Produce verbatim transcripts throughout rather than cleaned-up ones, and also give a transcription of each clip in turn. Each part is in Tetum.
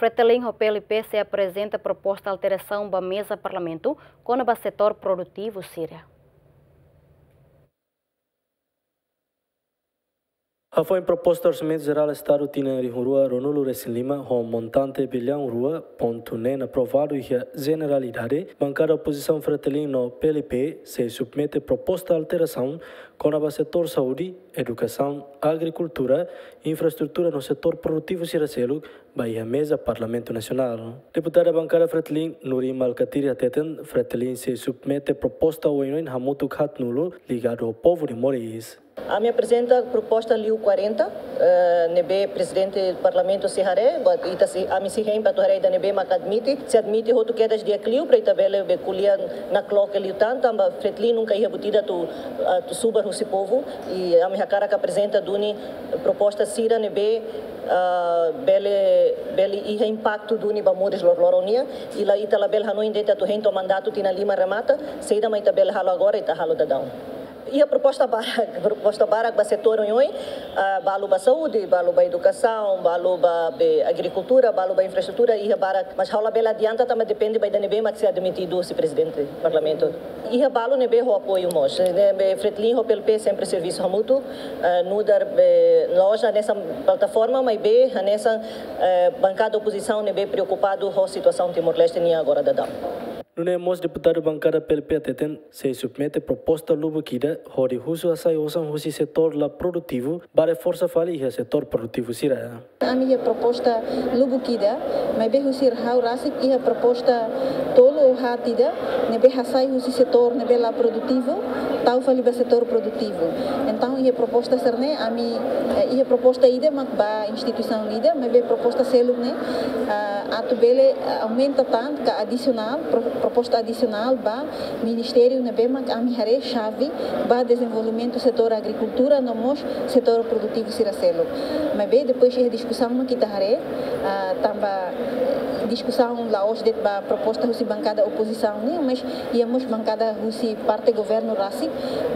Fretilin ho P L P sei aprezenta proposta alterasaun ba meza Parlamentu kona-ba setór produtivu sira. Hafoin proposta Orsamentu Jerál Estadu tinan rihun rua ruanulu resin lima ho montante biliaun rua pontu neen aprovadu iha jeneralidade, bankada opozisaun Fretilin no P L P sei submete proposta alterasaun kona-ba setór saúde, edukasaun, agrikultura, infraestrutura no setór produtivu sira seluk ba iha meza Parlamentu Nasionál. Deputada bankada Fretilin, Nurimal Katiri hateten, Fretilin sei submete proposta oioin hamutuk haatnulu ligadu ho povu de Moris. Ami aprezenta proposta liu kuarenta, eh, ne'ebé Prezidente Parlamentu sei haree, ba ita sei, ami sei hein ba atu haree ida ne'ebé mak admite, se admite hotu kedas di'ak liu para ita bele be ko'alia nakloke liután, tanba Fretilin nunka iha buat ida atu, atu subar husi povu, i ami hakarak aprezenta duni proposta sira ne'ebé, ah, bele, bele iha impaktu duni ba moris loroloron nian, i la ita labele hanoin de'it atu hein to'o mandatu tinan lima remata, saida mak ita bele halo agora ita halo daudaun. Iha proposta barak, proposta barak ba setór oioin, ah, balu ba saúde, balu ba edukasaun, balu ba be agrikultura, balu ba infraestrutura, iha barak, mas ha'u labele adianta tanba depende ba ida ne'ebé mak sei admitidu husi Prezidente Parlamentu. Iha balu ne'ebé ho apoiu mós, ne'ebé Fretilin ho P L P sempre servisu hamutuk, eh, nu'udar be la'ós hanesan plataforma, maibé hanesan, eh, bankada opozisaun ne'ebé preokupadu ho situasaun Timor-Leste nian agora daudaun. Nune'e mós deputadu bankada P L P hateten, sei submete proposta lubuk ida hodi husu hasai osan husi setór la produtivu ba reforsa fali iha setór produtivu sira. Ami iha proposta lubuk ida, maibé husi ha'u rasik iha proposta tolu ou haat ida, ne'ebé hasai husi setór ne'ebé la produtivu, tau fali ba setór produtivu. Entaun iha proposta sira-ne'e, ami, eh, iha proposta ida mak ba instituisaun ida, maibé proposta seluk ne'e, ah, atu bele, ah, aumenta tan ka adisionál, pro-, proposta adisionál ba ministériu ne'ebé mak ami haree xave ba dezenvolvimentu setór agrikultura no mós setór produtivu sira seluk. Maibé depois iha diskusaun mak ita haree, ah, tanba diskusaun la'ós de'it ba proposta husi bankada opozisaun nian, mas iha mós bankada husi parte governu rasik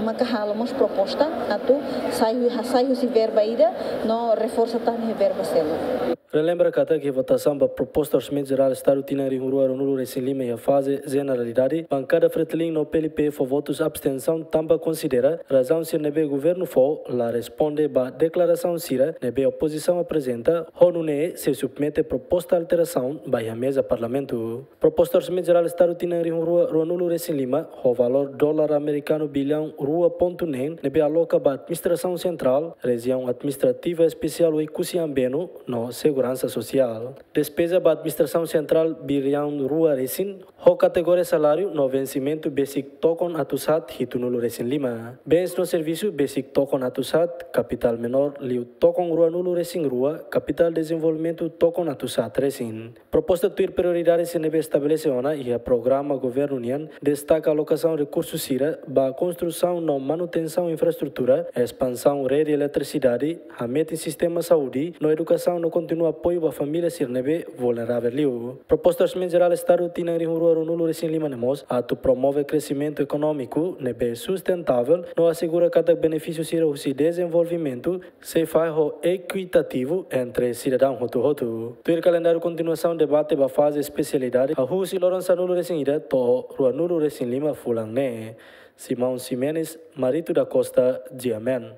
maka halo mós proposta atu sai hu-, hasai husi verba ida no reforsa tan iha verba seluk. Relembra katak iha votasaun ba proposta Orsamentu Jerál Estadu tinan rihun rua ruanulu resin lima iha faze jeneralidade, bankada Fretilin no P L P fó votus abstensaun tanba konsidera razaun sira ne'ebé governu fó la responde ba deklarasaun sira ne'ebé opozisaun aprezenta, ho nune'e sei submete proposta alterasaun ba iha meza Parlamentu. Proposta Orsamentu Jerál Estadu tinan rihun rua ruanulu resin lima, ho valór dolar amerikanu biliaun rua pontu neen, ne'ebé aloka ba Administrasaun Sentrál, Rejiaun Administrativa Espesiál Oekusi Ambeno, no Seguransa Sosiál. Despeza ba Administrasaun Sentrál biliaun rua resin, ho kategoria saláriu no vensimentu besik tokon atus haat hitunulu resin lima. Bens no servisu besik tokon atus haat, kapitál menór liu tokon ruanulu resin rua, kapitál dezenvolvimentu tokon atus haat resin. Proposta tuir prioridade sira ne'ebé estabelese ona iha programa governu nian, destaka alokasaun rekursu sira ba konstrusaun no manutensaun infraestrutura, espansaun rede eletrisidade, hametin sistema saúde no edukasaun no kontinua apoiu ba família sira ne'ebé vulneravel liu. Proposta Orsamentu Jerál Estadu tinan rihun rua ruanulu resin lima ne'e mós atu promove kresimentu ekonómiku ne'ebé sustentavel no asegura katak benefísiu sira husi dezenvolvimentu sei fahe ho ekuitativu entre sidadaun hotu-hotu. Tuir kalendáriu kontinuasaun debate ba faze espesialidade, hahú husi loron sanulu resin ida to'o ruanulu resin lima fulan ne'e. Simão Ximenes, Marito da Costa, G M N.